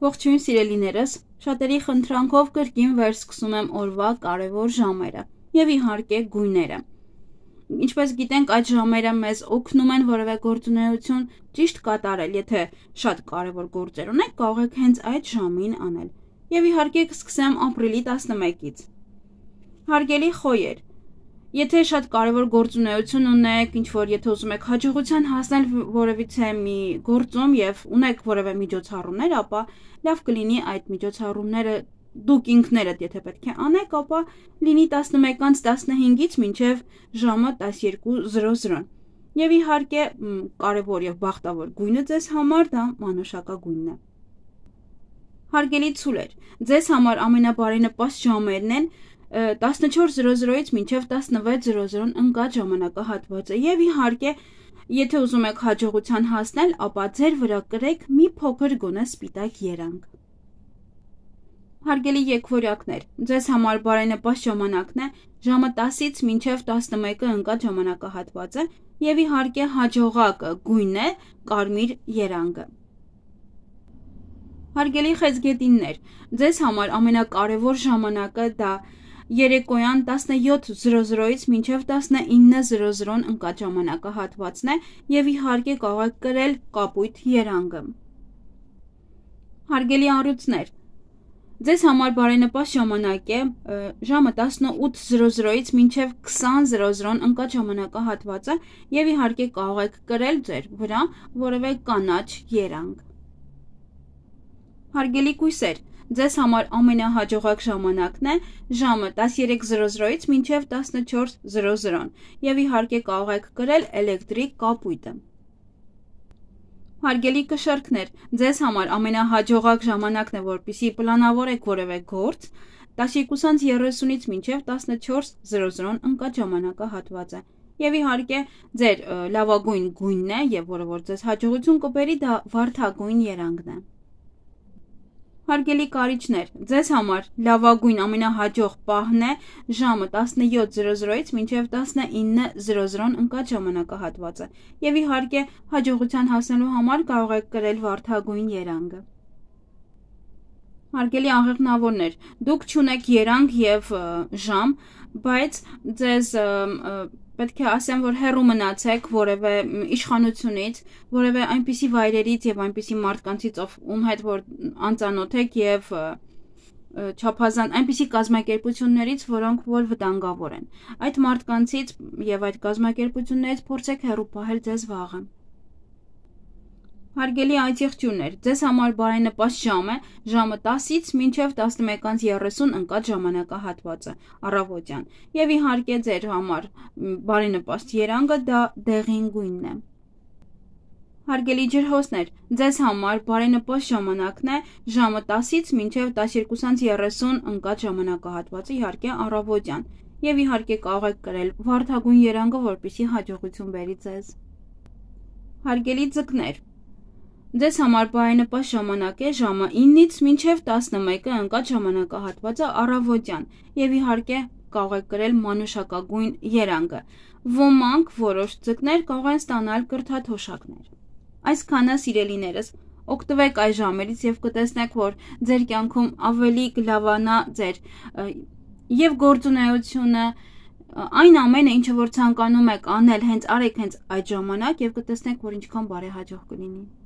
Ողջույն սիրելիներս, շատերի խնդրանքով կրկին վերսկսում եմ օրվա կարևոր ժամերը եւ իհարկե գույները։ Ինչպես գիտենք, այդ ժամերը մեզ օգնում են որևէ գործունեություն ճիշտ կատարել, եթե շատ կարևոր գործեր ունենք, կարող եք հենց այդ ժամին անել։ Եվ իհարկե կսկսեմ ապրիլի 11-ից։ Հարգելի խոյեր, եթե շատ կարևոր գործունեություն ունեք, ինչ-որ եթե ուզում եք հաջողության հասնել որևիցե մի գործում եւ ունեք որևէ միջոցառումներ, ապա լավ կլինի այդ միջոցառումները դուք ինքներդ եթե պետք է անեք, ապա լինի 11:15-ից մինչև ժամը 12:00։ Եվ իհարկե կարևոր եւ բախտավոր գույնը ձեզ համար դա մանուշակագույնն է։ Հարգելի ցուլեր, ձեզ համար ամենաբարենպաստ ժամերն են 14:00-ից մինչև 16:00 ընկած ժամանակահատվածը եւ իհարկե եթե ուզում եք հաջողության հասնել, ապա ձեր վրա կրեք մի փոքր գոնե սպիտակ երանգ։ Հարգելի եկվորյակներ, ձեզ համար բարենպաստ ժամանակն է ժամը 10-ից մինչև 11-ը ընկած ժամանակահատվածը եւ իհարկե հաջողակ գույնն է կարմիր երանգը։ Հարգելի խեցգետիններ, ձեզ համար ամենակարևոր ժամանակը դա երեկոյան 17:00-ից մինչև 19:00 ընկած ժամանակահատվածն է եւ իհարկե կարող եք կրել կապույտ երանգը։ Հարգելի առյուծներ, ձեզ համար բարենպաստ ժամանակ է ժամը 18:00-ից մինչև 20:00 ընկած ժամանակահատվածը եւ իհարկե կարող եք կրել ձեր վրա որևէ կանաչ երանգ։ Հարգելի կույսեր, ձեզ համար ամենահաջողակ ժամանակն է ժամը 13:00-ից մինչև 14:00 եւ իհարկե կարող եք կրել էլեկտրիկ կապույտը։ Հարգելի կշեռքներ, ձեզ համար ամենահաջողակ ժամանակն է, որպեսզի պլանավորեք որևէ գործ 12:30-ից մինչև 14:00 ընկած ժամանակահատվածը եւ իհարկե ձեր լավագույն գույնն է եւ որը որ ձեզ հաջողություն կբերի դա վարդագույն երանգն է։ Հարգելի կարիճներ, ձեզ համար լավագույն ամենահաջող պահն է ժամը 17:00-ից մինչև 19:00 ընկած ժամանակահատվածը եւ իհարկե հաջողության հասնելու համար կարող եք կրել վարդագույն երանգը։ Հարգելի աղեղնավորներ, դուք չունեք երանգ եւ ժամ, բայց ձեզ պետք է ասեմ, որ հեռու մնացեք որևէ իշխանությունից, որևէ այնպիսի վայրերից եւ այնպիսի մարդկանցից, ում հետ որ անծանոթ եք եւ չափազանց այնպիսի կազմակերպություններից, որոնք որ վտանգավոր են։ Այդ մարդկանցից եւ այդ կազմակերպություններից փորձեք հեռու պահել ձեզ վաղը։ Հարգելի այցեղջյուրներ, ձեզ համար բարենպաստ ժամ է ժամը 10-ից մինչև 11:30 ընկած ժամանակահատվածը առավոտյան եւ իհարկե ձեր համար բարենպաստ երանգը դա դեղին գույնն է։ Հարգելի ջրհոսներ, ձեզ համար բարենպաստ ժամանակն է ժամը 10-ից մինչև 12:30 ընկած ժամանակահատվածը իհարկե առավոտյան եւ իհարկե կարող եք կրել վարդագույն երանգը, որպեսզի հաջողություն բերի ձեզ։ Հարգելի ձկներ, ձեզ համար բարենպաստ ժամանակ է ժամը 9-ից մինչև 11-ը ընկած ժամանակահատվածը առավոտյան եւ իհարկե կարող եք կրել մանուշակագույն երանգը։ Ոմանք որոշ ձկներ կարող են ստանալ կրթաթոշակներ։ Այսքանը սիրելիներս, օգտվեք այս ժամերից եւ կտեսնեք, որ ձեր կյանքում ավելի կլավանա ձեր եւ գործունեությունը այն ամենը, ինչը որ ցանկանում եք անել, հենց արեք հենց այդ ժամանակ եւ կտեսնեք, որ ինչքան բարեհաջող կլինի։